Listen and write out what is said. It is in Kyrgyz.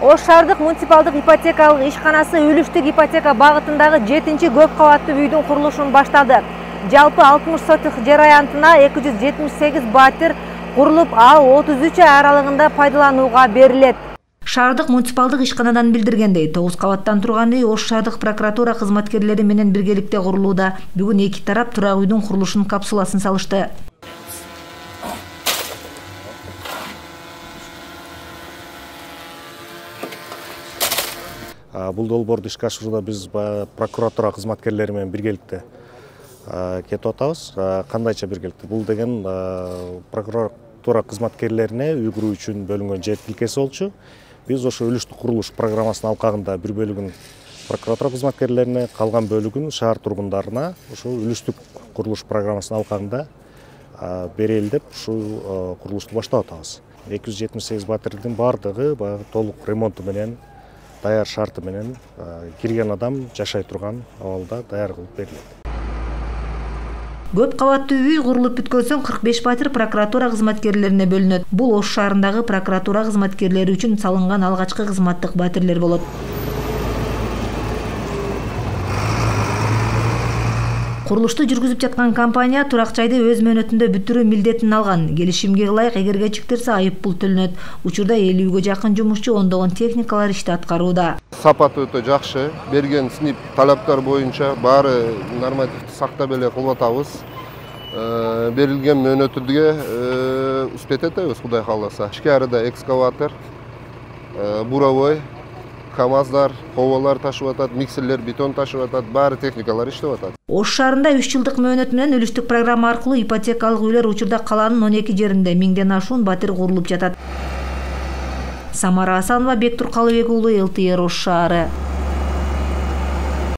Ош шаардык муниципалдык ипотекалык ишканасы үлүштүк ипотека багытындагы 7-чи көп кабаттуу үйдүн курулушун баштады. Жалпы 60 сотых жер аянтына 278 батир курулуп, ал 33 ай аралыгында пайдаланууга берилет. Шаардык муниципалдык ишканадан билдиргендей, 9 кабаттан турган үй Ош шаардык прокуратура кызматкерлери менен биргеликте курулууда. Бүгүн эки тарап турак үйдүн курулушунун капсуласын салышты. Бул долбоорду ишке ашырууда биз прокуратура кызматкерлери менен биргеликте кетип атабыз. Кандайча биргеликте? Бул деген прокуратура кызматкерлерине үй куруу үчүн бөлүнгөн жер тилкеси болчу. Биз ошо үлүштүк курулуш программасынын алкагында бир бөлүгүн прокуратура кызматкерлерине, калган бөлүгүн шаар тургундарына ошо үлүштүк курулуш программасынын алкагында берели деп ушул курулушту баштап атабыз. 278 батирдин баардыгы баягы толук ремонту менен, даяр шарты менен кирген адам жашай турган абалда даяр кылып берилет. Көп кабаттуу үй курулуп бүткөн соң 45 батир прокуратура кызматкерлерине бөлүнөт. Бул Ош шаарындагы прокуратура кызматкерлери үчүн салынган алгачкы кызматтык батирлер болот. Курулушту жүргүзүп жаткан компания турак жайды өз мөөнөтүндө бүтүрүү милдетин алган. Келишимге ылайык эге кечиктирсе айып пул төлөнөт. Учурда 50-гө жакын жумушчу, ондогон техникалар ишти аткарууда. Сапаты өтө жакшы. Берген синип талаптар боюнча баары нормативди сактап эле кылып атабыз. Берилген мөөнөтүгө успет этебиз, Кудай кааласа. Ички арада экскаватор, буровой, КАМАЗдар, ховолар ташып атат, миксерлер, бетон ташып атат, баары техникалар иштеп атат. Ош шаарында 3 жылдык мөөнөт менен үлүштүк программа аркылуу ипотекалык үйлөр учурда калаанын 12 жеринде 1000ден ашуун батир курулуп жатат. Самара Асанова, Бектур Калыбек уулу, ЛТР Ош шаары.